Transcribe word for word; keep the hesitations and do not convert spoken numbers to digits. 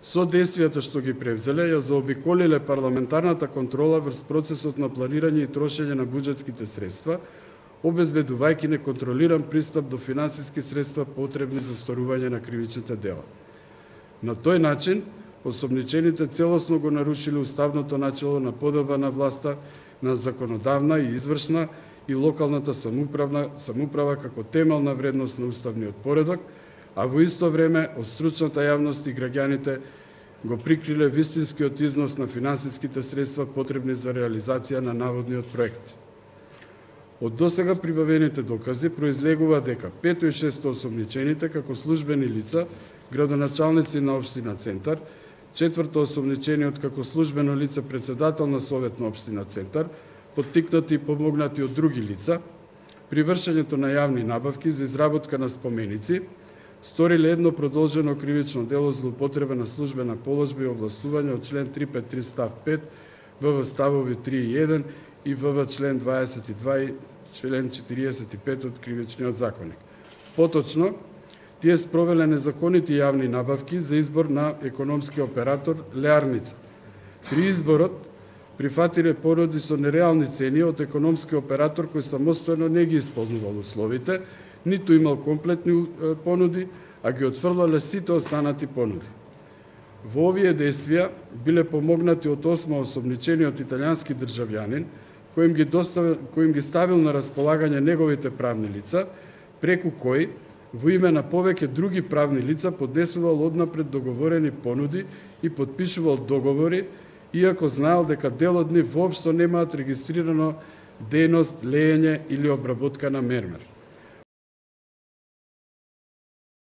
Со действијата што ги превзеле, ја заобиколиле парламентарната контрола врз процесот на планирање и трошење на буџетските средства, обезбедувајќи неконтролиран пристап до финансиски средства потребни за сторување на кривичните дела. На тој начин, осомничените целосно го нарушиле уставното начело на подоба на власта на законодавна и извршна и локалната самоуправна самоуправа како темелна вредност на уставниот поредок, а во исто време од стручната јавност и граѓаните го прикриле вистинскиот износ на финансиските средства потребни за реализација на наводниот проект. Од досега прибавените докази произлегува дека пето и шесто осомничените како службени лица, градоначалници на општина Центар, четврто осомничениот како службено лице председател на Совет на општина Центар, поттикнати и помогнати од други лица, при вршењето на јавни набавки за изработка на споменици, сториле едно продолжено кривично дело злоупотреба на службена положба и овластување од член триста петдесет и три став пет, ВВ ставови три и еден и ВВ член дваесет и два и член четириесет и пет од Кривичниот законник. Поточно, тие спровеле незаконити јавни набавки за избор на економски оператор Леарница. При изборот прифатиле понуди со нереални цени од економски оператор кој самостојно не ги исполнувал условите, ниту имал комплетни понуди, а ги отфрлале сите останати понуди. Во овие действија биле помогнати од осма осомничениот италијански државјанин, кој им ги, доставил, кој им ги ставил на располагање неговите правни лица, преку кој, во име на повеќе други правни лица, поднесувал однапред договорени понуди и подпишувал договори, иако знаел дека дел од нив воопшто немаат регистрирано дејност, леење или обработка на мермер.